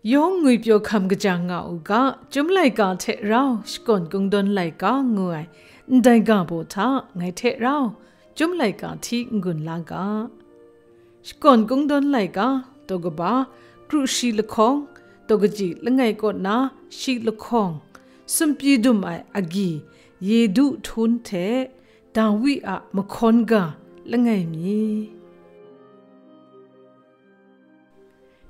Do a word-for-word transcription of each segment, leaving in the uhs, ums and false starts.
Yawng ngwipyaw hkam kaja nga u ga, Chyum laika hte rau shakawn kungdawn laika ngu ai ndai ga baw hta ngai hte rau Chyum laika hti n-gun la ga. Shakawn kungdawn laika, daw kaba, kru shi lahkawng, daw kaji langai kaw na shi lahkawng, sumpyi dum ai agyi, Yedu htun hte Dawi a mahkawn ga langai mi.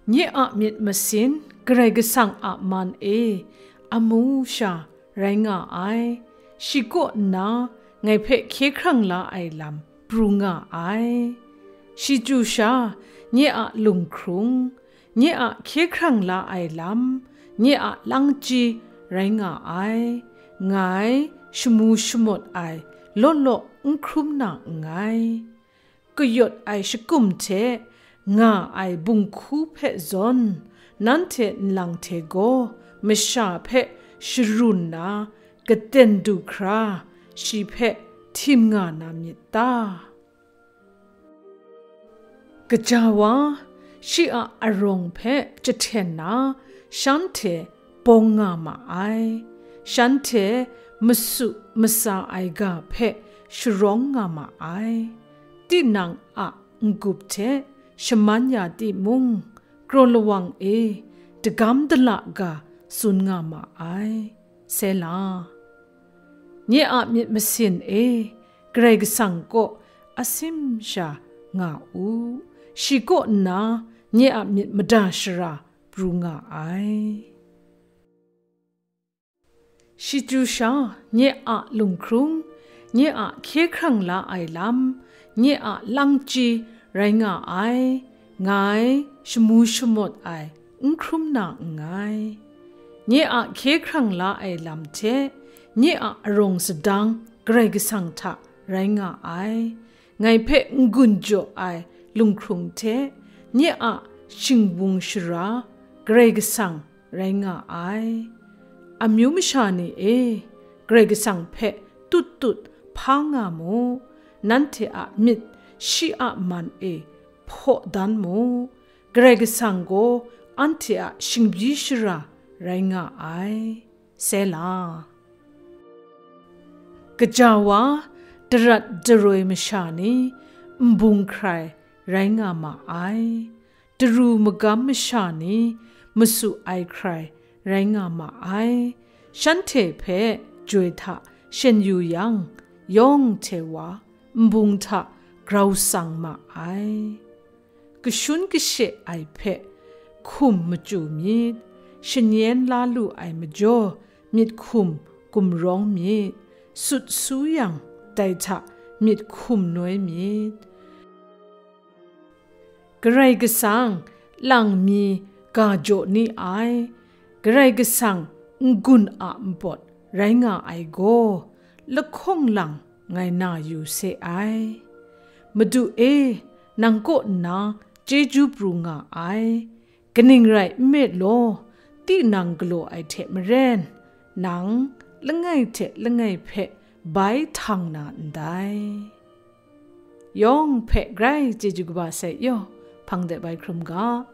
Nye a myit masin, Karai Kasang a man e, amu sha rai nga ai, shi kaw nna ngai hpe hkye hkrang la ai lam pru nga ai. Shi chyu sha, nye a lunghkrung, nye a hkye hkrang la ai lam, nye a langchyi rai nga ai. Ngai shamu shamawt ai law law n hkrum na nngai. Kayawt ai shakum hte nga ai bunghku hpe zawn, nanhte nlang hte gaw masha hpe sharun na, katen du hkra shi hpe htim nga na myit ta? Gaja wa, shi a arawng hpe jahten na, shanhte bawng nga ma ai, shanhte masu matsa ai ga hpe sharawng nga ma ai. Tinang a n-gup hte shaman ya timung, kraw lawang e dagam dala ga tsun nga ma ai. Sela. Nye a myit masin e, Karai Kasang kaw asim sha nga u, shi kaw nna nye a myit mada shara pru nga ai. Shi chyu sha, nye a lunghkrung, nye a hkye hkrang la ai lam, nye a langchyi rai nga ai, ngai shamu shamawt ai n hkrum na nngai. Nye a hkye hkrang la ai lam hte, nye a arawng sadang Karai Kasang hta rai nga ai. Ngai hpe n-gun jaw ai lunghkrung hte, nye a shingwung shara Karai Kasang rai nga ai. Amyu masha ni e, Karai Kasang hpe tut tut hpa nga mu, nanhte a myit shi a man e hpaw dan mu, Karai Kasang gaw anhte a shingbyi shara rai nga ai. Sela. Gaja wa, darat daroi masha ni, nbung hkrai rai nga ma ai, daru magam masha ni, masu ai hkrai rai nga ma ai, shanhte hpe joi hta shen yu yang, yawng hte wa nbung hta grau tsang ma ai. Kashun kashe ai hpe hkum machyu myit, shanyen la lu ai majaw myit hkum gumrawng myit, sut su yang dai hta myit hkum noi myit. Karai Kasang lang mi ga jaw ni ai, Karai Kasang n-gun a npawt rai nga ai gaw, lahkawng lang ngai na yu se ai. Madu e, nang kaw nna chyeju pru nga ai. Kaning rai nme law, tinang galaw ai hte maren, nang langai hte langai hpe bai htang na ndai. Yawng hpe grai chyeju kaba sai yaw, hpang de bai hkrum ga.